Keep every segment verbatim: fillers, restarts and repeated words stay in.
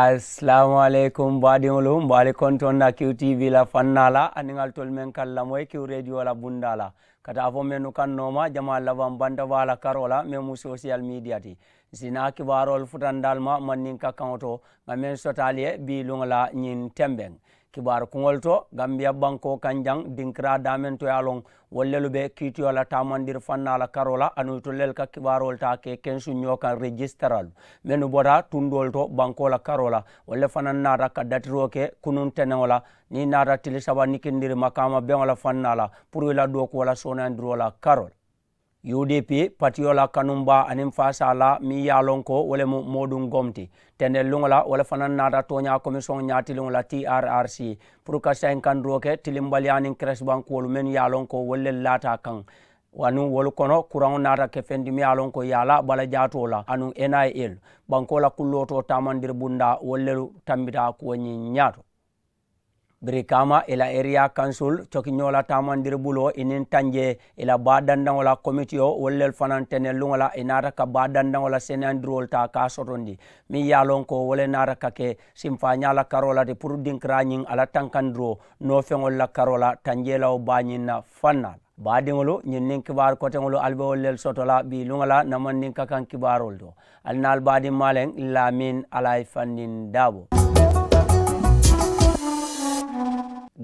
Asalaamu aleykum baadiŋolu, mbe ali kontoŋ na kiw tv la fannaa la aniŋ ali tolu meŋ ka lamoyi kiw reediyo la bundaa la, ka taa fo mennu kaŋ nooma jamaa labaŋ bantaba la karoo la meŋ mu sosiyal miidiya ti. Nsi naa kibaaroolu futandi ali ma mandinka kaŋo to, ŋa meŋ soto ali ye bii luŋo la ñiŋ tembeŋ kibaaru kuŋolu to. Gambiya bankoo kaŋ jaŋ dinkiraa daameŋ to ye a loŋ, wolu lelu be kiitiyo la taamandiri fannaa la karoo la anuŋ itolu lelu ka kibaaroolu taa ke kensuŋ ñoo kaŋ rejisitaralu mennu bota tundoolu to bankoo la karoo la. Wolu le fanaŋ naata ka datiroo ke kunuŋ teneŋo la, niŋ i naata tili saba nikindiri makaama beŋo la fannaa la puru i la dookuwo la sooneyandiroo la karoo la. U D P patiyo la kanumbaa aniŋ faasaa la meŋ ye a loŋ ko wo le mu mooduŋ gom ti, tendelluŋo la wo le fanaŋ naata tooñaa komisiyoŋo ñaatiliŋo la T R R C puru ka sayinkandiroo ke tilimbaliyaa niŋ keresibankuwolu mennu ye a loŋ ko wolu le laata a kaŋ. Anuŋ wolu kono kuraŋo naata ke feŋ ti meŋ ye a loŋ ko i ye a la bala jaatoo la anuŋ N I L bankoo la kullootoo taamandiri bundaa wolu lelu tambita kuwo ñiŋ ñaato. Birikaama i la eriya kansul cokiñoo la taamandiri buloo i niŋ tanjee i la baa dandaŋo la komitiyo wolu lelu fanaŋ tenelluŋo la i naata ka baa dandaŋo la seneyandiroolu taa ka a sotondi meŋ ye a loŋ ko wo le naata ka ke simfaañaa la karoo la ti puru dinkiraa ñiŋ a la tankandiroo noofeŋolu la karoo la tanjee la wo baa ñiŋ na fannaa la. Baadiŋolu ñiŋ niŋ kibaaru koteŋolu ali be wolu lelu soto la bii luŋo la namandinka kaŋ kibaaroolu to. Ali naalu baadiŋ maaleŋ laamin alayi fandiŋ daabo.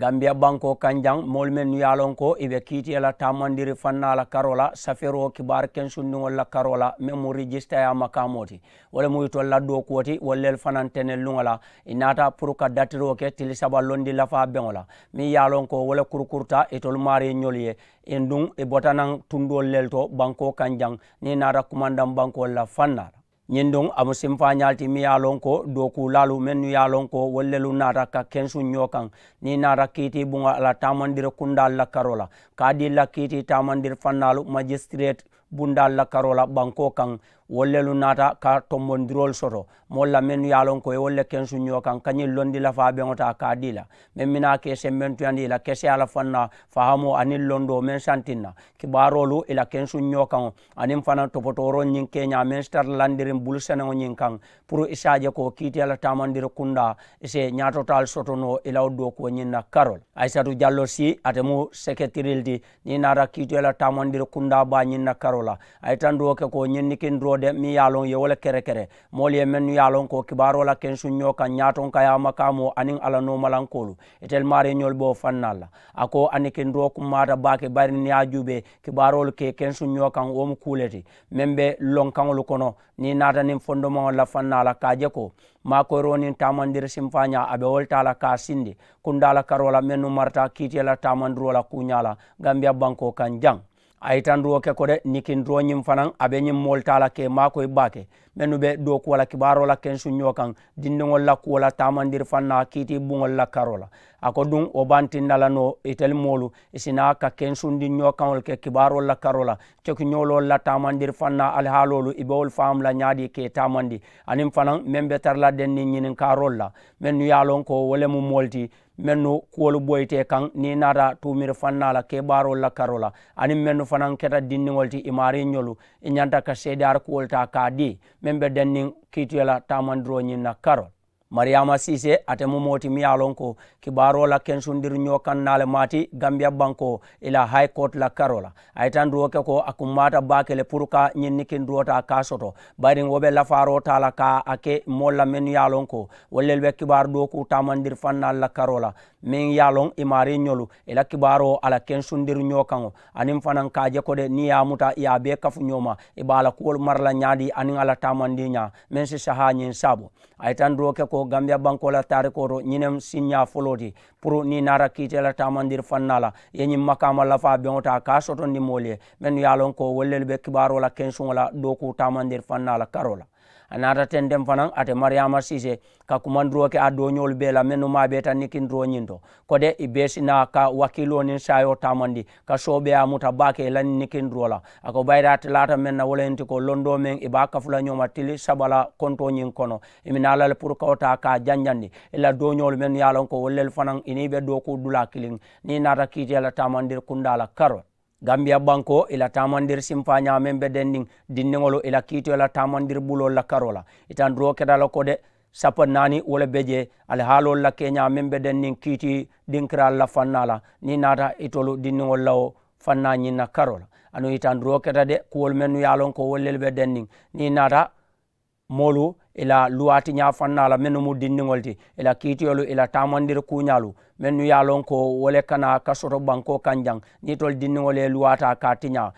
Gambiya bankoo kaŋ jaŋ moolu mennu ye a loŋ ko i be kiitiye la taamandiri fannaa la karoo la safeeroo kibaaru kensundiŋolu la karoo la meŋ mu rijisitayaa makaamoo ti. Wo le mu itolu la dookuwo ti wolu lelu fanaŋ tenelluŋo la i naata puru ka datiroo ke tili saba londi lafaa beŋo la meŋ ye a loŋ ko wo le kurukuruta itolu maariiñolu ye. Induŋ i bota naŋ tundoolu lelu to bankoo kaŋ jaŋ niŋ i naata kumandaŋ bankoolu la fannaa la. Ñiŋ duŋ a mu simfaañaalu ti meŋ ye a loŋ ko dookuulaalu mennu ye a loŋ ko wolu lelu naata ka kensuŋ ñoo kaŋ niŋ i naata kiitii buŋo a la taamandiri kundaalu la karoo la ka a dii la kiitii taamandiri fannaalu majisitireeti bundaalu la karoo la bankoo kaŋ. Wolu lelu naata ka tombondiroolu soto moolu la mennu ye a loŋ ko i ye wolu le kensuŋ ñoo kaŋ ka ñiŋ londi lafaa beŋo taa ka a dii la meŋ minaa ka i sembentuyandi i la keseyaa la fannaa fahamoo aniŋ londoo meŋ santiŋ na kibaaroolu i la kensuŋ ñoo kaŋo aniŋ fanaŋ topotooroo ñiŋ keeñaa meŋ si tara landiriŋ bulu seneŋo ñiŋ kaŋ puru i si a je ko kiitiya la taamandiri kundaa i si ñaatotaalu soto noo i la wo dookuwo ñiŋ na karoo la. Ayisatu jallo si ate mu seketirili ti niŋ i naata kiitiya la taamandiri kundaa baa ñiŋ na karoo la a ye tanduroo ke ko ñiŋ nikindiroo de meŋ ye a loŋ i ye wo le kerekere moolu ye mennu ye a loŋ ko kibaaroo la kensuŋ ñoo kaŋ ñaatonkayaa makaamoo aniŋ a la noomalankoolu itelu maariiñolu be wo fannaalu la. A ko a nikindiroo kummaata baake bari niŋ i ye a juubee kibaaroolu ka i kensuŋ ñoo kaŋ wo mu kuu le ti meŋ be lonkaŋolu kono niŋ i naata niŋ fondomaŋolu la fannaa la ka a je ko maakoyiroo niŋ taamandiri simfaañaa a be wo le taa la ka a sindi kundaa la karoo la mennu marata kiitiye la taamandiroo la kuuñaa la gambiya bankoo kaŋ jaŋ. A ye tandiroo ke ko de nikindiroo ñiŋ fanaŋ a be ñiŋ moolu taa la ka i maakoyi baake mennu be dookuwo la kibaaroo la kensuŋ ñoo kaŋ dindiŋolu la kuwo la taamandiri fannaa kiitii buŋolu la karoo la. A ko duŋ wo bantinna la noo itelu moolu i si naa ka kensundi ñoo kaŋolu ke kibaaroolu la karoo la cokiñooloolu la taamandiri fannaa alihaaloolu i be wolu faamu la ñaadii ka i taamandi aniŋ fanaŋ meŋ be tara la denniŋ ñininkaaroolu la mennu ye a loŋ ko wo le mu moolu ti mennu kuwolu boyita i kaŋ niŋ i naata tuumiri fannaa la kebaaroolu la karoo la aniŋ mennu fanaŋ keta dindiŋolu ti i maariiñolu i ñanta ka seedeyaari kuwolu taa ka a dii meŋ be denniŋ kiitiyo la taamandiroo ñiŋ na karoo la. Mariyaama siisee ate mu moo ti miŋ ye a loŋ ko kibaaroo la kensundiriñoo kaŋ naa le maati gambiya bankoo i la hayi kooti la karoo la. A ye tandiroo ke ko a kummaata baake le puru ka ñiŋ nikindiroo taa ka a soto bayiriŋ wo be lafaaroo taa la ka a ke moolu la mennu ye a loŋ ko wolu lelu be kibaaru dookuu taamandiri fannaalu la karoo la meŋ ye a loŋ i maariiñolu i la kibaaroo a la kensundiriñoo kaŋo aniŋ fanaŋ ka a je ko de niŋ i ye a muta i ye a bee kafu ñooma i be a la kuwolu mara la ñaadii aniŋ a la taamandiiñaa meŋ si sahaa ñiŋ saaboo. A ye tandiroo ke ko gambiya bankoo la taarikoo to ñiŋ ne mu siiñaa foloo ti puru niŋ i naata kiitee la taamandiri fannaa la i ye ñiŋ makaama lafaa beŋo taa ka a sotondi moolu ye mennu ye a loŋ ko wolu lelu be kibaaroo la kensuŋo la dookuu taamandiri fannaa la karoo la. A naata tenteŋ fanaŋ ate mariyaama siisee ka kumandiroo ke a dooñoolu bee la mennu maabeeta nikindiroo ñiŋ to ko de i bee si naa ka wakiiloo niŋ saayoo taamandi ka soobeeyaa muta baake i la nikindiroo la. A ko bayiri ate laata meŋ na wo le ñiŋ ti ko londoo meŋ i be a kafu la ñooma tili saba la kontoo ñiŋ kono i mi naa la le puru ka wo taa ka a janjandi i la dooñoolu mennu ye a loŋ ko wolu lelu fanaŋ i niŋ i be dookuu dulaa kiliŋ niŋ i naata kiitee la taamandiri kundaa la karoo la. Gambiya bankoo i la taamandiri simfaañaa meŋ be dendiŋ dindiŋolu i la kiitiyo la taamandiri buloolu la karoo la i tandiroo keta la ko de Sappa naani wo le be jee. Alihaaloolu la keeñaa meŋ be denniŋ kiiti dinkiraalu la fannaa la niŋ i naata itolu dindiŋolu la wo fannaa ñiŋ na karoo la. Anuŋ i tanduroo keta de kuwolu mennu ye a loŋ ko wolu lelu be denniŋ niŋ i naata moolu i la luwaatiñaa fannaa la mennu mu dindiŋolu ti i la kiitiyolu i la taamandiri kuuñaalu mennu ye a loŋ ko wo le kana ka soto bankoo kaŋ jaŋ. Niŋ itolu dindiŋolu ye luwaataa ka a tiñaa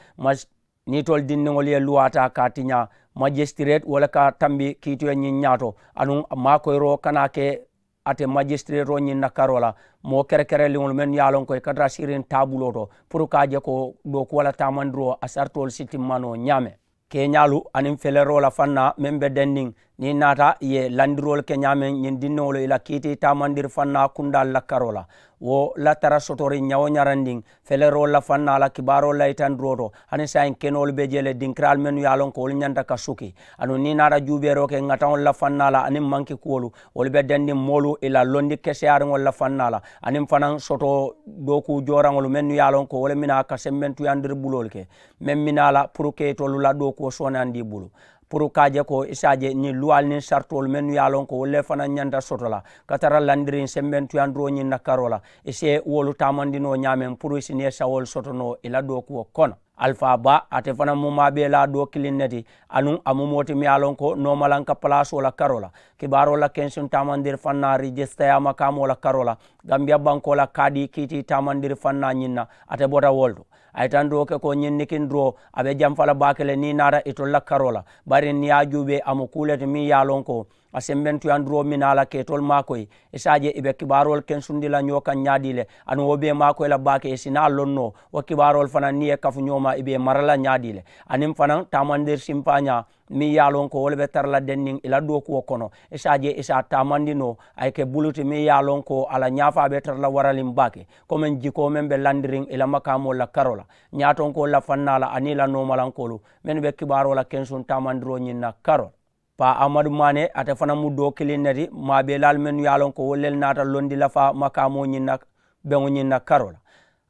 niŋ itolu dindiŋolu ye luwaataa ka a tiñaa majisitireeti wo le ka tambi kiitiyo ñiŋ ñaato. Anuŋ maakoyiroo kana ke ate majisitireetoo ñiŋ na karoo la moo kerekereliŋolu mennu ye a loŋ ko i ka tara siiriŋ taabuloo to puru ka a je ko dookuwo la taamandiroo a saritoolu si timma noo ñaameŋ. Keeñaalu aniŋ feleroo la fannaa meŋ be denniŋ niŋ i naata i ye landiroolu ke ñaameŋ ñiŋ dindiŋolu i la kiiti taamandiri fannaa kundaalu la karoo la wo la tara sotoriŋ ñawo ñarandiŋ feleroolu la fannaa la kibaaroolu la itandiroo to. Hani saayiŋ kenoolu be jee le dinkiraalu mennu ye a loŋ ko wolu ñanta ka suki aduŋ niŋ i naata juubeeroo ke ŋataŋolu la fannaa la aniŋ manki kuwolu wolu be dendiŋ moolu i la londi keseyaariŋolu la fannaa la aniŋ fanaŋ soto dookuu jooraŋolu mennu ye a loŋ ko wo le minaa ka sembentuyandiri buloolu ke meŋ minaa la puru ka itolu la dookuwo sooneyandi i bulu puru ka a je ko i si a je ñiŋ luwaalu niŋ saritoolu mennu ye a loŋ ko wolu le fanaŋ ñanta soto la ka tara landiriŋ sembentuyandiroo ñiŋ na karoo la i si wolu taamandi noo ñaameŋ puru i si niŋ ye sawoolu soto noo i la dookuwo kono. Alifaa baa ate fanaŋ mu maabeelaa doo kiliŋ ne ti anuŋ a mu moo ti miŋ ye a loŋ ko noomalanka palaasoo la karoo la kibaaroo la kensuŋ taamandiri fannaa rijisitayaa makaamoo la karoo la gambiya bankoo la kaadii kiitii taamandiri fannaa ñiŋ na ate bota wo le to. A ye tanduroo ke ko ñiŋ nikindiroo a be jamfa la baake le niŋ i naata itolu la karoo la bari niŋ i ye a juubee a mu kuu le ti meŋ ye a loŋ ko a sembentuyanduroo minaa la ka itolu maakoyi i si a je i be kibaaroolu kensundi la ñoo kaŋ ñaadii le aduŋ wo bee maakoyi la baake i si naa loŋ noo wo kibaaroolu fanaŋ niŋ i ye kafu ñoo ma i be i mara la ñaadii le aniŋ fanaŋ taamandiri simpaañaa meŋ ye a loŋ ko wo le be tara la denniŋ i la dookuwo kono i si a je i si a taamandi noo a ye ke bulu ti meŋ ye a loŋ ko a la ñaafaa be tara la waraliŋ baake komeŋ jikoo meŋ be landiriŋ i la makaamoolu la karoo la ñaatonkoolu la fannaa la aniŋ i la noomalankoolu mennu be kibaaroo la kensuŋ taamandiroo ñiŋ na karoo la. Paa amadu maane ate fanaŋ mu doo kiliŋ ne ti maabeelaalu mennu ye a loŋ ko wolu lelu naata londi lafaa makaamoo ñiŋ na beŋo ñiŋ na karoo la.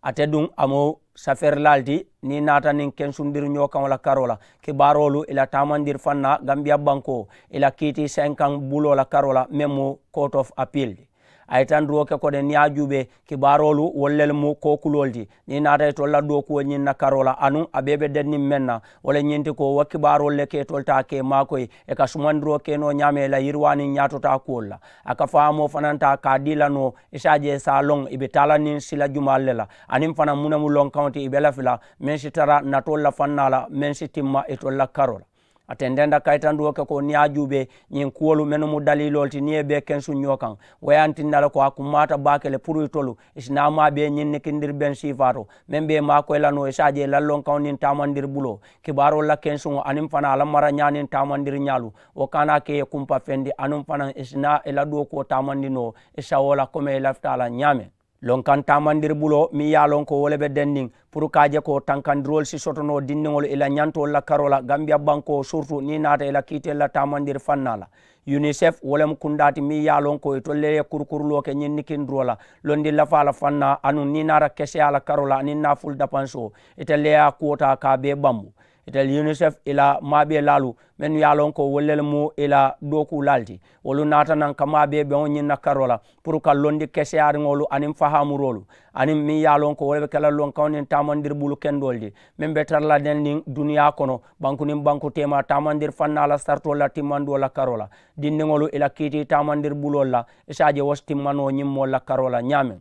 Ate duŋ a mu safeerilaalu ti niŋ i naata niŋ kensundiri ñoo kaŋo la karoo la kibaaroolu i la taamandiri fannaa gambiya bankoo i la kiiti senkaŋ buloo la karoo la meŋ mu court of appeal ti. A ye tanduroo ke ko de niŋ i ye a juubee kibaaroolu wolu lelu mu kookuloolu ti niŋ i naata itolu la dookuwo ñiŋ na karoo la anuŋ a bee be denniŋ meŋ na wo le ñiŋ ti ko wo kibaaroolu le ka itolu taa ka i maakoyi i ka sumandiroo ke noo ñaameŋ i la yiriwaa niŋ ñaatotaa kuwolu la. A ka faamoo fanaŋ taa ka a dii la noo i si a je i si a loŋ i be taa la niŋ sila jumaalu le la aniŋ fanaŋ muŋ ne mu lonkaŋo ti i be lafi la meŋ si tara natoolu la fannaa la meŋ si timma itolu la karoo la. A tententa kayitandiwoo ke ko niŋ i ye a juubee ñiŋ kuwolu mennu mu daliiloolu ti niŋ i ye bee kensuŋ ñoo kaŋ wo ye a tinna le ko a kummaata baake le puru itolu i si naa maa bee ñiŋ nikindiri beŋ siifaa to meŋ be i maakoyi la noo i si a je i la lonkaŋo niŋ taamandiri buloo kibaaroolu la kensuŋo aniŋ fanaa a la marañaa niŋ taamandiri ñaalu wo ka a naa ke i ye kumpa fendi aniŋ fanaŋ i si naa i la dookuwo taamandi noo i sawoo la komeŋ i lafita a la ñaameŋ. Lonkaŋ taamandiri buloo meŋ ye a loŋ ko wo le be denniŋ puru ka a je ko tankandiroolu si soto noo dindiŋolu i la ñantoolu la karoo la gambiya bankoo siritu niŋ i naata i la kiiteelu la taamandiri fannaa la. Unicef wo le mu kundaa ti meŋ ye a loŋ ko itolu le ye kurukuruloo ke ñiŋ nikindiroo la londi lafaa la fannaa anuŋ niŋ i naata keseyaa la karoo la aniŋ naafulu dapansoo itelu le ye a kuwo taa ka a bee bambu. Itelu unicef i la maabeelaalu mennu ye a loŋ ko wolu lelu mu i la dookuulaalu ti wolu naata naŋ ka maabee beŋo ñiŋ na karoo la puru ka londi keseyaariŋolu aniŋ fahaamuroolu aniŋ meŋ ye a loŋ ko wo le be ke la lonkaŋo niŋ taamandiri bulu kendoolu ti meŋ be tara la neŋ niŋ duniyaa kono banku niŋ banku teema taamandiri fannaa la saritoolu la timmandiwo la karoo la dindiŋolu i la kiitii taamandiri buloolu la i si a je wo si timma noo ñiŋ moolu la karoo la ñaameŋ.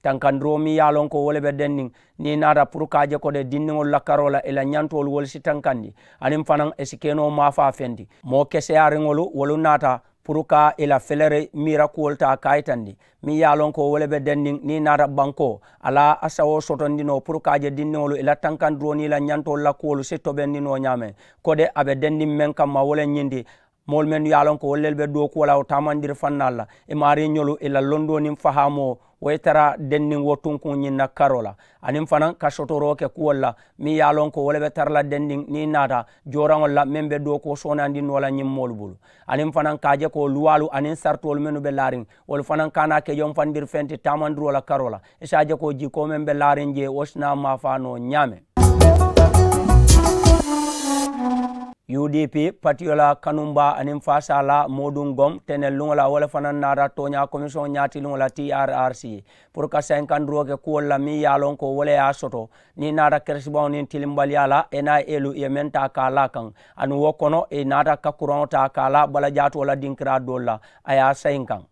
Tankandiroo meŋ ye a loŋ ko wo le be denniŋ niŋ i naata puru ka a je ko de dindiŋolu la karoo la i la ñantoolu wolu si tankandi aniŋ fanaŋ i si ke noo maafaa feŋ ti moo keseyaariŋolu wolu naata puru ka i la feleri miira kuwolu taa ka a yitandi meŋ ye a loŋ ko wo le be denniŋ niŋ i naata bankoo a la a sawoo sotondi noo puru ka a je dindiŋolu i la tankandiroo niŋ i la ñantoolu la kuwolu si tobendi noo ñaameŋ. Ko de a be denniŋ meŋ kamma wo le ñiŋ ti moolu mennu ye a loŋ ko wolu lelu be dookuwo la wo taamandiri fannaalu la i maariiñolu i la londoo niŋ fahaamoo wo ye tara denniŋ wo tunkuŋ ñiŋ na karoo la aniŋ fanaŋ ka sotoroo ke kuwolu la meŋ ye a loŋ ko wo le be tara la denniŋ niŋ i naata jooraŋolu la meŋ be dookuwo soonandi noo la ñiŋ moolu bulu aniŋ fanaŋ ka a je ko luwaalu aniŋ saritoolu mennu be laariŋ wolu fanaŋ ka a naa ke jomfandiri feŋ ti taamandiroo la karoo la i si a je ko jikoo meŋ be laariŋ jee wo si naa maafaa noo ñaameŋ. U D P patiyo la kanumbaa aniŋ faasaa la mooduŋ gom teneluŋo la wo le fanaŋ naata tooñaa komisiyoŋo ñaatiliŋo la T R R C puru ka sayinkandiroo ke kuwolu la meŋ ye a loŋ ko wo le ye a soto. Niŋ i naata keresibaŋo niŋ tilimbaliyaa la N I A lu i ye meŋ taa ka a laa kaŋ, aduŋ wo kono i naata ka kuraŋo taa ka a laa balajaatoo la dinkiraa doolu la, a ye a sayinkaŋ.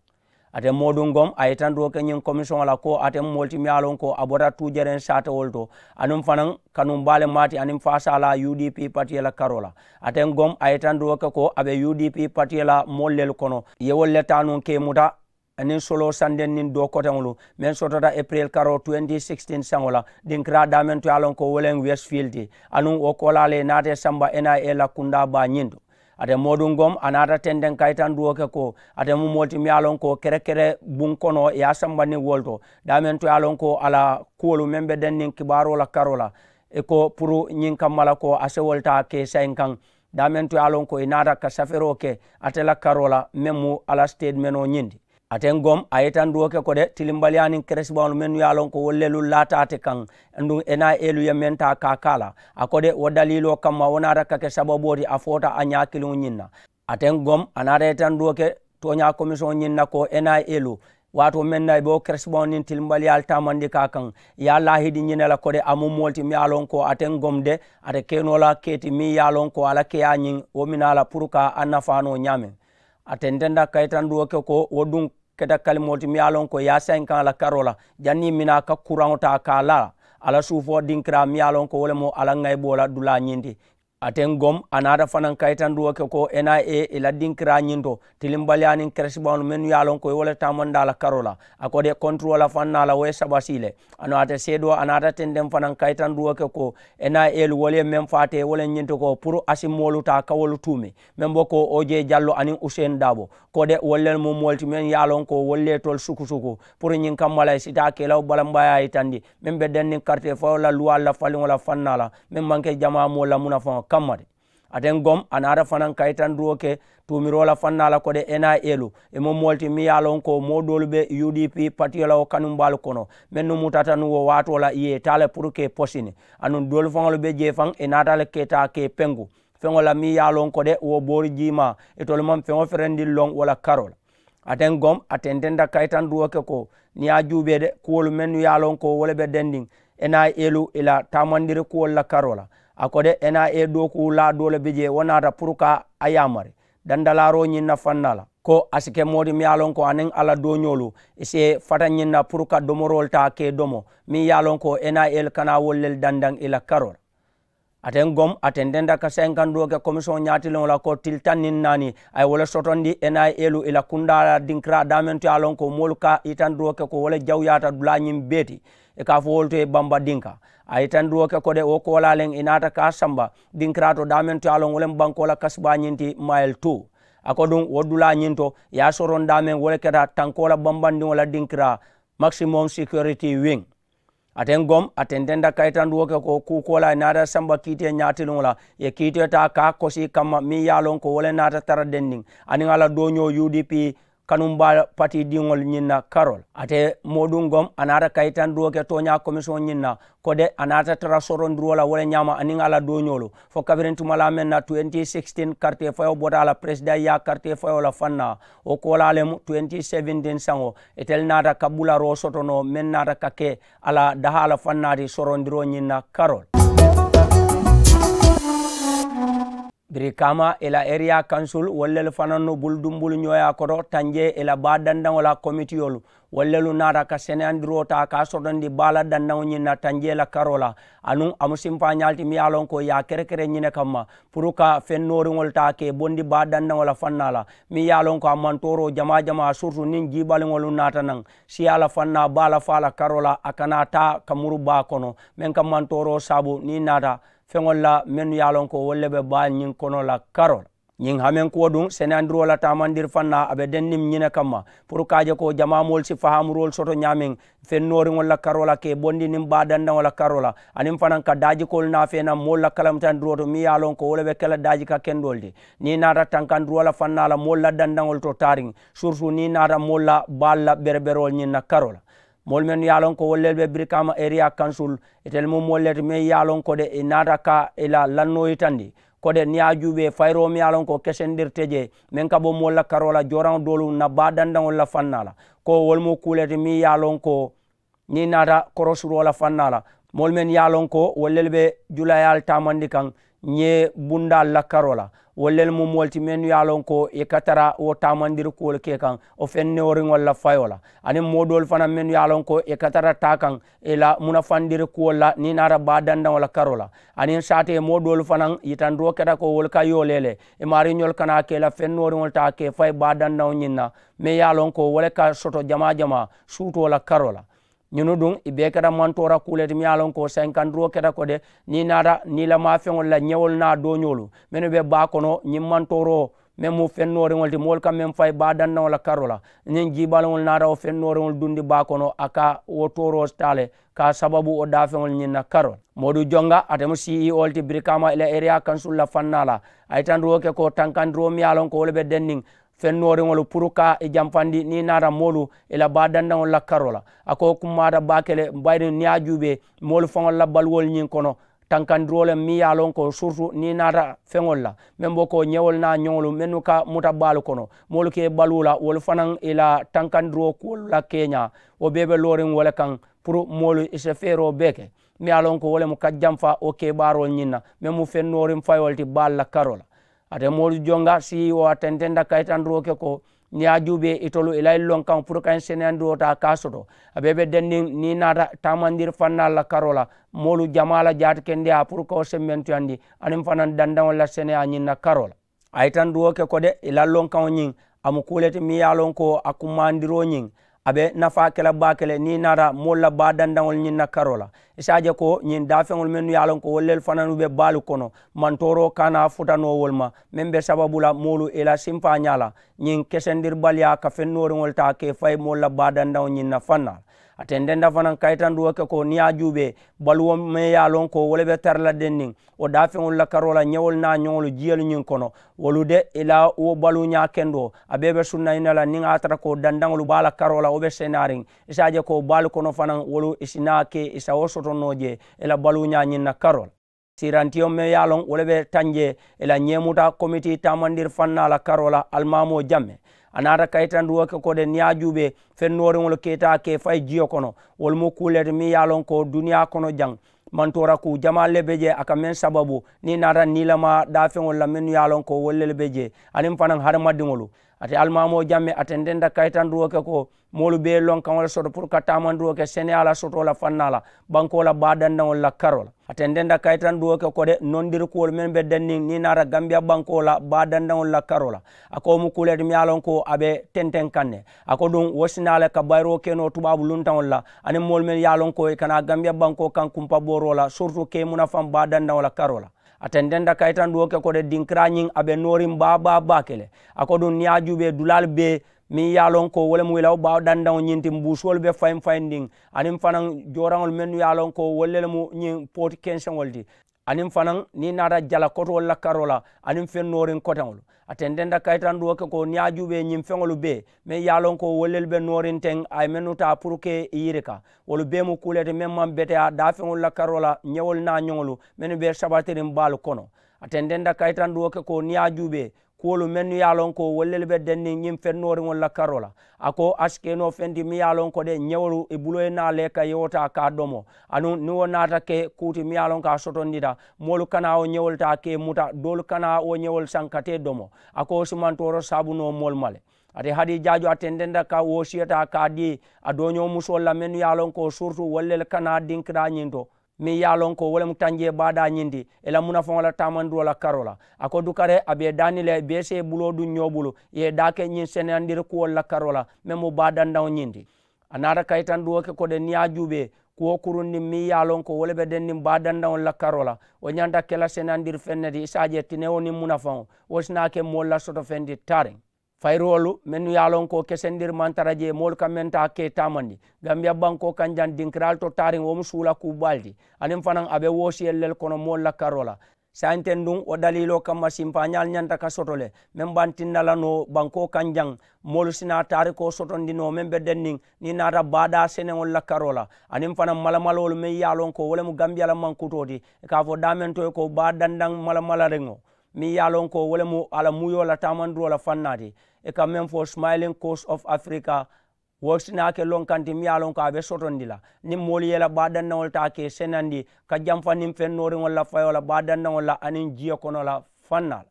Ate mooduŋ gom a ye itandiroo ke ñiŋ komisiyoŋo la ko ate mu moolu ti meŋ ye a loŋ ko a bota tuujereŋ saatewolu to, aduŋ fanaŋ kanumbaa le maati aniŋ faasaa la U D P patiyo la karoo la. Ate gom a ye itandiroo ke ko a be U D P patiyo la moolu lelu kono, i ye wolu le taa nuŋ ka i muta aniŋ soloo sandeŋ niŋ doo koteŋolu meŋ sotota epiril karoo twenty sixteen saŋo la dinkiraa daameŋ to ye a loŋ ko wo le mu westfield ti, aduŋ wo koolaa le ye naata i samba N I A la kundaa baa ñiŋ to. Ate mooduŋ gom a naata tenteŋ kayitandiroo ke ko ate mu moolu ti meŋ ye a loŋ ko kerekere buŋ kono i ye a samba niŋ wolu to, daameŋ to ye a loŋ ko a la kuwolu meŋ be denniŋ kibaaroo la karoo la, i ko puru ñiŋ kamma la ko a sewolu taa ka i sayinkaŋ, daameŋ to ye a loŋ ko i naata ka safeeroo ke ate la karoo la meŋ mu a la siteedimenoo ñiŋ ti. Ate gom a ye itandiroo ke ko de tilimbaliyaa niŋ keresibaŋolu mennu ye a loŋ ko wolu lelu laata ate kaŋ, aduŋ N I A lu ye meŋ taa ka a ke a la, a ko de wo daliiloo kamma wo naata ka ke sababoo ti a foota a ñaa kiliŋo ñiŋ na. Ate gom a naata itandiroo ke tooñaa komisiyoŋo ñiŋ na ko N I A lu waatoo meŋ na i be wo keresibaŋo niŋ tilimbaliyaalu taamandi ka a kaŋ, i ye a laahidi ñiŋ ne la ko de a mu moolu ti meŋ ye a loŋ ko ate gom de ate ke noo la kee ti meŋ ye a loŋ ko a la keeyaa ñiŋ wo minaa la puru ka a nafaa noo ñaameŋ. A tententa kayitandiroo ke ko wo duŋ keta kalimoolu ti meŋ ye a loŋ ko i ye a sayinkaŋ a la karoo la janniŋ i minaa ka kuraŋo taa ka a laa a la suufoo dinkiraa meŋ ye a loŋ ko wo le mu a la ŋayiboo la dulaa ñiŋ ti. Ate gom a naata fanaŋ kayitandiroo ke ko N I A i la dinkiraa ñiŋ to tilimbaliyaa niŋ keresibaŋolu mennu ye a loŋ ko i wo le taamandaa la karoo la, a ko de konturoo la faŋ naa la wo ye sabasii le. Aduŋ ate seedoo a naata tenteŋ fanaŋ kayitandiroo ke ko N I A lu wo le ye meŋ faa te wo le ñiŋ ti ko puru a si moolu taa ka wolu tuumi, meŋ be ko oje jallo aniŋ useeni daabo, ko de wolu lelu mu moolu ti meŋ ye a loŋ ko wolu le ye tolu sukusuku puru ñiŋ kamma la i si taa kelawo balambayaa yitandi meŋ be denniŋ karitee fayoo la luwaalu la faliŋo la faŋ naa la meŋ maŋ ke jamaa moolu la munafaŋo kamma ti. Ate gom a naata fanaŋ kayitandiroo ke tuumiroo la faŋ naa la ko de N I A lu i mu moolu ti meŋ ye a loŋ ko moo doolu be U D P patiyo la wo kanumbaalu kono mennu mutata nuŋ wo waatoo la i ye i taa le puru ka i posini, aduŋ doolu faŋolu be jee faŋ i naata le ka i taa ka i penku feŋo la meŋ ye a loŋ ko de wo boori jiimaa itolu maŋ feŋo ferendiŋ loŋ wo la karoo la. Ate gom a tententa kayitandiroo ke ko niŋ i ye a juubee de kuwolu mennu ye a loŋ ko wo le be dendiŋ N I A lu i la taamandiri kuwolu la karoo la, a ko de N I A dookuu laa doo le be jee wo naata puru ka a yaamari dandalaaroo ñiŋ na faŋ naa la ko a si ke moo ti meŋ ye a loŋ ko aniŋ a la dooñoolu i si fata ñiŋ na puru ka domoroolu taa ka i domo meŋ ye a loŋ ko N I A lu kana wolu lelu dandaŋ i la karoo la. Ate gom a tententa ka sayinkandiroo ke komisiyoŋo ñaatiliŋo la ko tili taŋ niŋ naani a ye wo le sotondi N I A lu i la kundaa la dinkiraa daameŋ to ye a loŋ ko moolu ka yitandiroo ke ko wo le jawuyaata dulaa ñiŋ bee ti, i ka a fo wolu to ye bamba dinka. A ye yitandiroo ke ko de wo koolaa leŋ i naata ka a samba dinkiraa to daameŋ to ye a loŋ wo le mu bankoo la kasibaa ñiŋ ti mayili tu. A ko duŋ wo dulaa ñiŋ to i ye a soroŋ daameŋ wo le keta tankoo la bambandiŋo la dinkiraa maximum security wiŋ. Ate gom a tententa kayitandiroo ke ko kuu koolaa i naata samba kiitee ñaatiliŋo la i ye kiitee taa ka a kosi kamma meŋ ye a loŋ ko wo le naata tara dendiŋ aniŋ a la dooñoo U D P kanumbaa patidiŋolu ñiŋ na karoo la. Ate mooduŋ gom a naata kayitandiroo ke tooñaa komisiyoŋo ñiŋ na ko de a naata tara sorondiroo la wo le ñaama aniŋ a la dooñoolu fo kabiriŋ tumalaa meŋ na twenty sixteen karitee fayoo bota a la peresidaŋ yaa karitee fayoo la faŋ na. Wo koolaa le mu twenty seventeen saŋo itelu naata ka bularoo soto noo meŋ naata ka ke a la dahaa la faŋ naati sorondiroo ñiŋ na karoo la. Birikaama i la eriyaa kansul wolu lelu fanannu bulu dumbulu ñooyaa koto tanjee i la baa dandaŋo la komitiyolu wolu lelu naata ka seneyandiroo taa ka a sotondi baa la dandaŋo ñiŋ na tanjee la karoo la. Anuŋ a mu simpaañaalu ti miŋ ye a loŋ ko i ye a kerekere ñine kamma puru ka feŋ nooriŋolu taa ka i bondi baa dandaŋo la faŋ naa la miŋ ye a loŋ ko a maŋ tooroo jamaa jamaa siritu niŋ jiibaliŋolu naata naŋ siyaa la faŋ naa baa la faa la karoo la a kana taa ka muru baa kono meŋ ka maŋ tooroo saabu niŋ i naata feŋolu la mennu ye a loŋ ko wolu le be baa ñiŋ kono la karoo la. Ñiŋ hamenkuwo duŋ seneyandiroo la taamandiri faŋ na a be denniŋ ñine kamma puru ka a je ko jamaa moolu si fahaamuroolu soto ñaameŋ feŋ nooriŋolu la karoo la ka i bondi niŋ baa dandaŋo la karoo la aniŋ fanaŋ ka daajikoolu naafee naŋ moolu la kalamutandiroo to miŋ ye a loŋ ko wo le be ke la daaji ka kendoolu ti. Niŋ i naata tankandiroo la faŋ na a la moolu la dandaŋolu to taariŋ siritu niŋ i naata moolu la baalu la bereberoolu ñiŋ na karoo la moolu mennu ye a loŋ ko wolu lelu be birikaama eriyaa kansul itelu mu moolu le ti meŋ ye a loŋ ko de i naata ka i la lannoo yitandi Ko de niŋ i ye a juubee fayiroo meŋ ye a loŋ ko kesendirite jee meŋ ka bo moolu la karoo la jooraŋo doolu na baa dandaŋolu la fannaa la, ko wolu mu kuu le ti meŋ ye a loŋ ko niŋ i naata korosuroo la fannaa la, moolu mennu ye a loŋ ko wolu lelu be julayaalu taamandi kaŋ ñee bundaalu la karoo la. Wolu lelu mu moolu ti mennu ye a loŋ ko i ka tara wo taamandiri kuwolu ke kaŋ wo feŋ nooriŋolu la fayoo la, aniŋ moo doolu fanaŋ mennu ye a loŋ ko i ka tara taa kaŋ i la munafandiri kuwolu la niŋ i naata baa dandaŋo la karoo la. Aniŋ saatee moo doolu fanaŋ yitandoo keta ko wolu ka yoolee le i maariiñolu kana ke i la feŋ nooriŋolu taa ke fayi baa dandaŋo ñiŋ na meŋ ye a loŋ ko wo le ka soto jamaa jamaa suutoo la karoo la. Ñunu duŋ i bee keta mantoora kuu le ti meŋ ye a loŋ ko saayiŋ kandiroo keta ko de niŋ i naata niilamaa feŋolu la ñewolu naa dooñoolu mennu be baa kono ñiŋ mantooroo meŋ mu feŋ nooriŋolu ti moolu ka meŋ fayi baa dandaŋo la karoo la. Niŋ jiibaliŋolu naata wo feŋ nooriŋolu dundi baa kono a ka wo tooroo taa le ka a sababu wo daafeŋolu ñiŋ na karoo la. Moodu jonga ate mu ceo le ti birikaama i la eriyaa kansulu la fannaa la. A ye tandiroo ke ko tankandiroo meŋ ye a loŋ ko wo le be denniŋ feŋ nooriŋolu puru ka i jamfandi niŋ i naata moolu i la baa dandaŋolu la karoo la. A ko wo kummaata baake le bayiriŋ niŋ i ye a juubee moolu faŋolu la baluwolu ñiŋ kono tankandiroo le meŋ ye a loŋ ko surutu niŋ i naata feŋolu la meŋ bo ko ñewolu naa ñoŋolu mennu ka muta baalu kono moolu ka i baluu la wolu fanaŋ i la tankandiroo kuwolu la keeñaa wo bee be looriŋ wo le kaŋ puru moolu i si feeroo bee ke meŋ ye a loŋ ko wo le mu ka jamfa wo kebaaroolu ñiŋ na meŋ mu feŋ nooriŋ fayoo le ti baalu la karoo la. Ate moolu jonga si wo a tententa kayitanduroo ke ko niŋ i ye a juubee itolu i la i lonkaŋo puru ka ñiŋ seneyandiroo taa ka a soto a bee be denniŋ niŋ i naata taamandiri fannaalu la karoo la moolu jamaa la jaati kendeyaa puru ka wo semmentuyandi aniŋ fanaŋ dandaŋolu la seneyaa ñiŋ na karoo la. A ye tanduwoo ke ko de i la lonkaŋo ñiŋ a mu kuu le ti meŋ ye a loŋ ko a kumaandiroo ñiŋ a be nafaa ke la baake le niŋ i naata moolu la baa dandaŋolu ñiŋ na karoo la. I si a je ko ñiŋ daafeŋolu mennu ye a loŋ ko wolu lelu fananu be baalu kono mantooroo kana futa noo wolu ma meŋ be sababu la moolu i la simpaañaa la ñiŋ kesendiribaliyaa ka feŋ nooriŋolu taa ka i fayi moolu la baa dandaŋo ñiŋ na fannaa la. A tententa fanaŋ kayitanduwoo ke ko niŋ i ye a juubee baluwo meŋ ye a loŋ ko wo le be tara la denniŋ wo daafeŋolu la karoo la ñewolu naa ñoŋolu jiyolu ñiŋ kono wolu de i la wo baluuñaa kendoo a bee be sunna i na la niŋ a ye a tara ko dandaŋolu baa la karoo la wo be senaariŋ i si a je ko baalu kono fanaŋ wolu i si naa ke i sa wo soto noo jee i la baluuñaa ñiŋ na karoo la. Siirantiyo meŋ ye a loŋ wo le be tanjee i la ñeemuta komitii taamandiri fannaa la karoo la alimaamoo jamme. A naata kayitanduwoo ke ko de niŋ i ye a juubee feŋ nooriŋolu ke i taa ke i fayi jiyo kono wolu mu kuu le ti meŋ ye a loŋ ko duniyaa kono jaŋ mantoora kuu jamaalu le be jee a ka meŋ sababu niŋ i naata niilamaa daafeŋolu la mennu ye a loŋ ko wolu lelu be jee aniŋ fanaŋ hadamadiŋolu. Ate alimaamoo jamme a tententa kayitandiroo ke ko moolu bee loŋ kaŋo le soto puru ka taamandiroo ke seneyaa la sotoo la fannaa la bankoo la baa dandaŋolu la karoo la. A tententa kayitandiroo ke ko de nondiri kuwolu mennu be denniŋ niŋ i naata gambiya bankoo la baa dandaŋolu la karoo la. A ko wo mu kuu le ti meŋ ye a loŋ ko a be tenteŋ kaŋ ne. A ko duŋ wo si naa le ka bayiroo ke noo tubaabu luntaŋolu la aniŋ moolu mennu ye a loŋ ko i kana gambiya bankoo kaŋ kumpabooroo la surutu ke munafaŋ baa dandaŋo la karoo la. A tententa kayitanduwoo ke ko de dinkiraa ñiŋ a be nooriŋ baa baa baake le. A ko duŋ niŋ i ye a juubee dulaalu bee meŋ ye a loŋ ko wo le mu i la wo baa dandaŋo ñiŋ ti mbuusoolu be fayiŋ fayindiŋ aniŋ fanaŋ jooraŋolu mennu ye a loŋ ko wolu le mu ñiŋ pooti kenseŋolu ti. Aniŋ fanaŋ niŋ i naata jala kotoolu la karoo la aniŋ feŋ nooriŋ koteŋolu. A tententa kayitanduwoo ke ko niŋ i ye a juubee ñiŋ feŋolu bee meŋ ye a loŋ ko wolu lelu be nooriŋ teŋ a ye mennu taa puru ke i yirika wolu bee mu kuu le ti meŋ maŋ beteyaa daafeŋolu la karoo la ñewolu naa ñoŋolu mennu be sabatiriŋ baalu kono. A tententa kayitanduwoo ke ko niŋ i ye a juubee kuwolu mennu ye a loŋ ko wolu lelu be denniŋ ñiŋ feŋ nooriŋolu la karoo la. A ko a si ke noo feŋ ti meŋ ye a loŋ ko de ñewolu i buloo ye naa le ka yewo taa ka a domo. Aduŋ niŋ wo naata ke kuu ti meŋ ye a loŋ ko a sotondita moolu kana wo ñewolu taa ka i muta doolu kana wo ñewolu saŋ ka te domo. A ko wo si mantooro saabu noo moolu ma le. Ate hadijaajo a tententa ka woosiyo taa ka a dii a dooñoo musoolu la mennu ye a loŋ ko surutu wolu le kana dinkiraa ñiŋ to meŋ ye a loŋ ko wo le mu tanjee baadaa ñiŋ ti i la munafaŋo la taamandiroo la karoo la. A ko dukare a be i daani le i bee si i buloo duŋ ñoo bulu i ye i daa ke ñiŋ seneyandiri kuwolu la karoo la meŋ mu baa dandaŋo ñiŋ ti. A naata kayitandiwoo ke ko de niŋ i ye a juubee kuwo kurundiŋ meŋ ye a loŋ ko wo le be denniŋ baa dandaŋolu la karoo la wo ñanta ke la seneyandiri feŋ ne ti i si a je tinewo niŋ munafaŋo wo si naa ke moolu la soto feŋ ti taariŋ. Fayiroolu mennu ye a loŋ ko kesendiri maŋ tara jee moolu ka meŋ taa ke taamandi gambiya bankoo kaŋ jaŋ dinkiraalu to taariŋ wo mu suula kuu baalu ti. Aniŋ fanaŋ a be woosiyelu le kono moolu la karoo la. Saayiŋ teŋ duŋ wo daliiloo kamma simpaañaalu ñanta ka soto le meŋ be a tinna la noo bankoo kaŋ jaŋ moolu si naa taarikoo sotondi noo meŋ be denniŋ niŋ i naata baadaa seneŋolu la karoo la. Aniŋ fanaŋ malamaloolu meŋ ye a loŋ ko wo le mu gambiya la mankutoo ti i ka a fo daameŋ to ye ko baa dandaŋ malamalariŋo. meŋ ye a loŋ ko wo le mu a la muyoo la taamandiroo la fannaa ti. I ka meŋ fo smiling coast of africa, wo si naa ke lonkaŋ ti meŋ ye a loŋ ko a be sotondi la niŋ moolu ye i la baa dandaŋolu taa ka i senandi ka jamfa niŋ feŋ nooriŋolu la fayoo la baa dandaŋolu la aniŋ jiyo kono la fannaa la.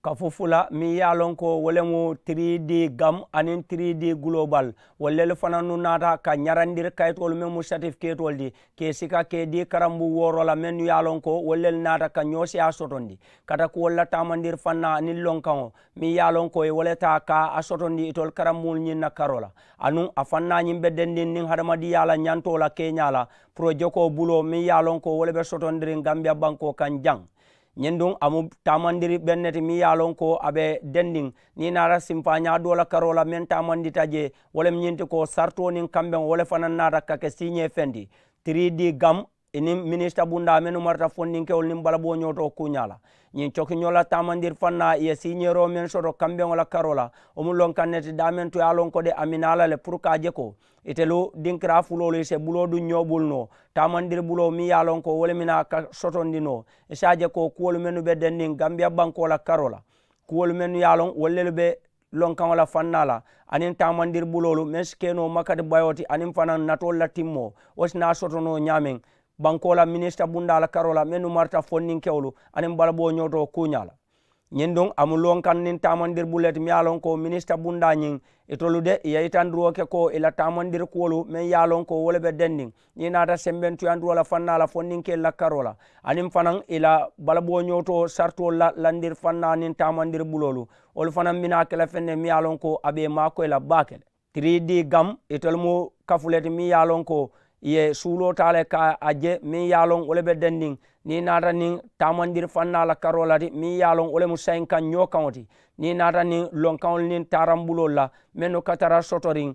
Kafu fula meŋ ye a loŋ ko wo le mu three D gam aniŋ three D global, wolu lelu fanannu naata ka ñarandiri kayitoolu meŋ mu satifikeetoolu ti ka i sika ka i dii karambu wooro la mennu ye a loŋ ko wolu lelu naata ka ñoo seyaa sotondi kata kuwolu la taamandiri fannaa aniŋ lonkaŋo meŋ ye a loŋ ko i wo le taa ka a sotondi itolu karambuŋolu ñiŋ na karoo la. Anuŋ a fannaa ñiŋ be dendiŋ niŋ hadamadiŋyaa la ñantoo la keeñaa la porojekoo buloo meŋ ye a loŋ ko wo le be sotondiriŋ gambiya bankoo kaŋ jaŋ. Ñiŋ duŋ a mu taamandiri beŋ ne ti meŋ ye a loŋ ko a be dendiŋ niŋ i naata sinfaañaa doo la karoo la meŋ taamandita jee wo le mu ñiŋ ti ko saritoo niŋ kambeŋo wo le fanaŋ naata ka ke siiñee feŋ ti. Three D gam i niŋ minisita bundaa mennu marata fondinkewolu niŋ balaboo ñootoo kuuñaa la. Ñiŋ cokiñoo la taamandiri fannaa i ye siiñeeroo meŋ soto kambeŋo la karoo la wo mu lonkaŋ ne ti daameŋ to ye a loŋ ko de a minaa la le puru ka a je ko itelu dinkiraa fuloolu i si buloo duŋ ñoo bulu noo taamandiri buloo meŋ ye a loŋ ko wo le minaa ka sotondi noo i si a je ko kuwolu mennu be denniŋ gambiya bankoo la karoo la kuwolu mennu ye a loŋ wolu lelu be lonkaŋo la fannaa la aniŋ taamandiri buloolu meŋ si ke noo makati bayoo ti aniŋ fanaŋ natoolu la timmoo wo si naa soto noo ñaameŋ bankoo la minisita bundaa la karoo la mennu marata fondinkewolu aniŋ balaboo ñootoo kuuñaa la. Ñiŋ duŋ a mu lonkaŋ niŋ taamandiri bulu le ti meŋ ye a loŋ ko minisita bundaa ñiŋ itolu de i ye yitandiroo ke ko i la taamandiri kuwolu meŋ ye a loŋ ko wo le be denniŋ niŋ i naata sembentuyandiroo la fannaa la fondinkeelu la karoo la aniŋ fanaŋ i la balaboo ñootoo saritoolu la landiri fannaa niŋ taamandiri buloolu wolu fanaŋ bi naa ke la feŋ ne meŋ ye a loŋ ko a be i maakoyi la baake le. Three D gam itelu mu kafu le ti meŋ ye a loŋ ko i ye suuloo taa le ka a je meŋ ye a loŋ wo le be dendiŋ niŋ i naata niŋ taamandiri fannaa la karoo la ti meŋ ye a loŋ wo le mu sayinkaŋ ñoo kaŋo ti niŋ i naata niŋ lonkaŋolu niŋ taarambuloolu la mennu ka tara sotoriŋ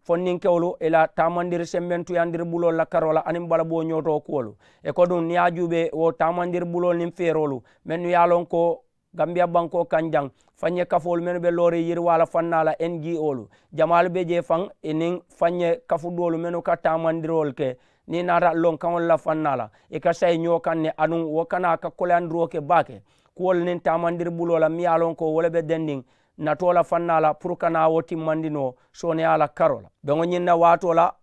fondinkewolu i la taamandiri sembentuyandiri buloolu la karoo la aniŋ balaboo ñootoo kuwolu. I ko duŋ niŋ i ye a juubee wo taamandiri buloolu niŋ feeroolu mennu ye a loŋ ko gambiya bankoo kaŋ jaŋ faŋ ye kafoolu mennu be looriŋ yiriwaa la fannaa la n g o lu jamaalu be jee faŋ i niŋ faŋ ye kafu doolu mennu ka taamandiroolu ke niŋ i naata lonkaŋolu la fannaa la i ka sayi ñoo kaŋ ne aduŋ wo kana ka koleyandiroo ke baake kuwolu niŋ taamandiri buloo la meŋ ye a loŋ ko wo le be dendiŋ natoo la fannaa la puru kana wo timmandi noo sooneyaa la karoo la. Beŋo ñiŋ na waatoo la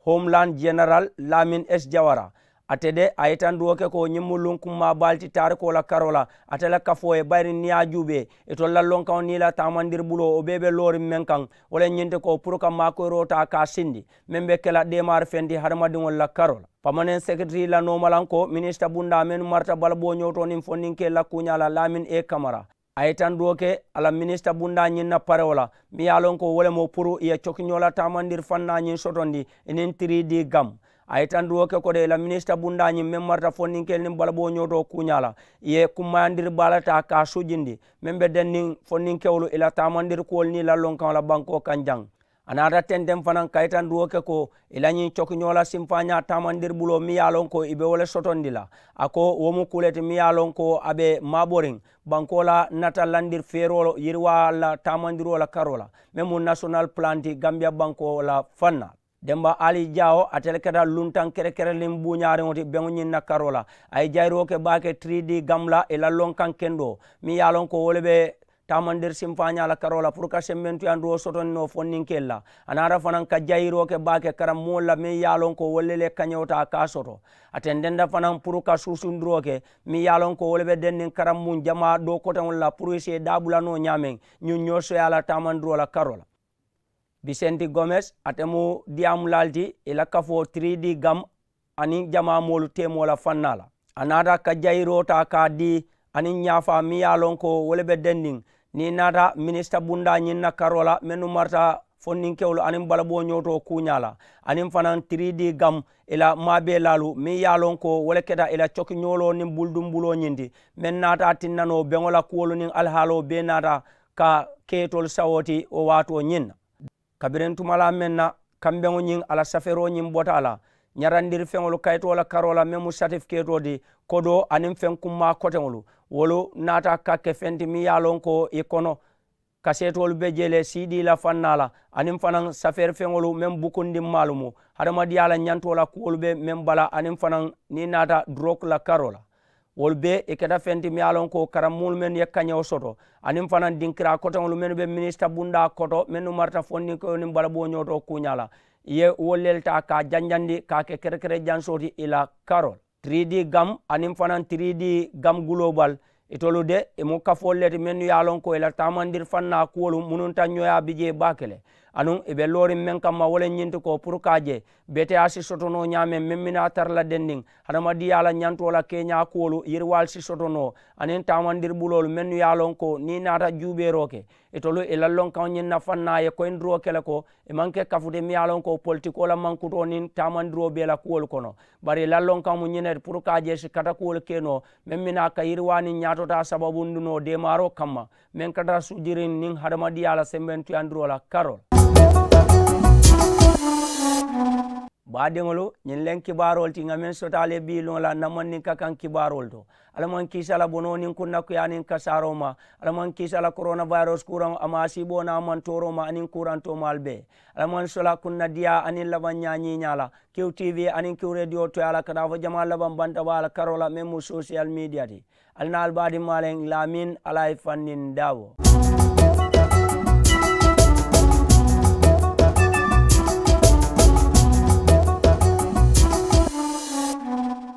homeland general lamin s jawara ate de a ye tanduwo ke ko ñiŋ mu luŋ kummaa baalu ti taarikoo la karoo la ate la kafoo ye bayiri niŋ ye a juubee itolu la lonkaŋo niŋ i la taamandiri buloo wo bee be looriŋ meŋ kaŋ wo le ñiŋ ti ko puru ka maakoyiroo taa ka a sindi meŋ be ke la deemaari feŋ ti hadamadiŋolu la karoo la. Pamaneŋ sekiritirii la noomalaŋ ko minisita bundaa mennu marata balaboo ñootoo niŋ fondinkeelu la kuuñaa la lamin e kamara a ye tanduwo ke a la minisita bundaa ñiŋ na parewo la meŋ ye a loŋ ko wo le mu puru i ye cokiñoo la taamandiri fannaa ñiŋ sotondi i niŋ three D gam. A ye tanduwo ke ko de i la minisita bundaa ñiŋ meŋ marata fondinkeelu niŋ balaboo ñootoo kuuñaa la i ye kummayandiri baa le taa ka a sujindi meŋ be denniŋ fondinkewolu i la taamandiri kuwolu niŋ i la lonkaŋo la bankoo kaŋ jaŋ. A naata tenteŋ fanaŋ ka yitandiwoo ke ko i la ñiŋ cokiñoo la simfaañaa taamandiri buloo meŋ ye a loŋ ko i be wo le sotondi la. A ko wo mu kuu le ti meŋ ye a loŋ ko a be maaboriŋ bankoo la nata landiri feeroo yiriwaa la taamandiroo la karoo la meŋ mu nasonal pulanti gambiya bankoo la fannaa. Demba ali jaawo ate le keta luntaŋ kerekereliŋ buuñaariŋo ti beŋo ñiŋ na karoo la. A ye jayiroo ke baake three D gam la i la lonkaŋ kendoo meŋ ye a loŋ ko wo le be taamandiri simfaañaa la karoo la puru ka sembentuyandiroo sotondi noo fondinkeelu la. A naata fanaŋ ka jayiroo ke baake karambuŋolu la meŋ ye a loŋ ko wolu le le kañewota ka a soto. A tententa fanaŋ puru ka suusundiroo ke meŋ ye a loŋ ko wolu be denniŋ karambuŋ jamaa doo koteŋolu la puru i si i daabula noo ñaameŋ ñuŋ ñoo soyaa la taamandiroo la karoo la. Bisenti gomes ate mu diyaamulaalu ti i la kafoo three D gam aniŋ jamaa moolu teemoo la fannaa la. A naata ka jayiroo taa ka a dii aniŋ ñaafaa meŋ ye a loŋ ko wo le be dendiŋ niŋ i naata minisita bundaa ñiŋ na karoo la mennu marata fondinkewolu aniŋ balaboo ñootoo kuuñaa la aniŋ fanaŋ three D gam i la maabeelaalu meŋ ye a loŋ ko wo le keta i la cokiñooloo niŋ buludumbuloo ñiŋ ti meŋ naata a tinna noo beŋo la kuwolu niŋ alihaaloo bee naata ka ke itolu sawoo ti wo waatoo ñiŋ na. Kabiriŋ tumalaa meŋ na kambeŋo ñiŋ a la safeeroo ñiŋ bota a la ñarandiri feŋolu kayitoo la karoo la meŋ mu satifikeetoo ti kodoo aniŋ feŋ kummaa koteŋolu wolu naata ka ke feŋ ti meŋ ye a loŋ ko i kono kaseetoolu be jee le siidii la fannaa la aniŋ fanaŋ safeeri feŋolu meŋ bukundimmaalu mu hadamadiyaa la ñantoo la kuwolu be meŋ bala aniŋ fanaŋ niŋ i naata duroku la karoo la. Wolu bee i keta feŋ ti miŋ ye a loŋ ko karammuŋolu mennu ye kañewo soto aniŋ fanaŋ dinkiraa koteŋolu mennu be minisita bundaa koto mennu marata fondinkewo niŋ balabooñoo to kuuñaa la, i ye wolu le le taa ka a janjandi ka a ke kerekere jansoo ti i la karoo la. Tiridii gam aniŋ fanaŋ tiridii gam guloobal, itolu de i mu kafoolu le ti mennu ye a loŋ ko i la taamandiri fannaa kuwolu mununta ñoyaa bi jee baake le. Anuŋ i be looriŋ meŋ kamma wo le ñiŋ ti ko puru ka a je beteyaa si soto noo ñaameŋ meŋ mi naa tara la dendiŋ hadamadiyaa la ñantoo la keeñaa kuwolu yiriwaalu si soto noo aniŋ taamandiri buloolu mennu ye a loŋ ko niŋ i naata juubeeroo ke itolu i la lonkaŋo ñiŋ na fannaa ye koyindiroo ke le ko i maŋ ke kafu ti miŋ ye a loŋ ko politikoo la mankutoo niŋ taamandiroo bee la kuwolu kono. Bari i la lonkaŋo mu ñiŋ ne ti puru ka a je i si katakuwolu ke noo meŋ mi naa ka yiriwaa niŋ ñaatotaa sababundi noo deemaaroo kamma meŋ ka tara sujiriŋ niŋ hadamadiyaa la sembentuyandiroo la karoo la. Baadiŋolu, ñiŋ leŋ kibaaroolu ti ŋa meŋ soto ali ye bii loŋ la namandinka kaŋ kibaaroolu to. Alla maŋ kiisa la bonoo niŋ kunnakuyaa niŋ kasaaroo ma. Alla maŋ kiisa la koronawayirus kuuraŋo a maŋ a siiboo naa maŋ tooroo ma aniŋ kuurantoo maalu bee. Alla maŋ sola kunnadiyaa aniŋ labaŋ ñaa ñiiñaa la. Kiw tv aniŋ kiw rediyo toyaa la ka taa fo jamaa labaŋ banta baa la karoo la meŋ mu sosiyal miidiya ti. Ali naa ali baadiŋ maaleŋ laamin alla ye fandin daawo.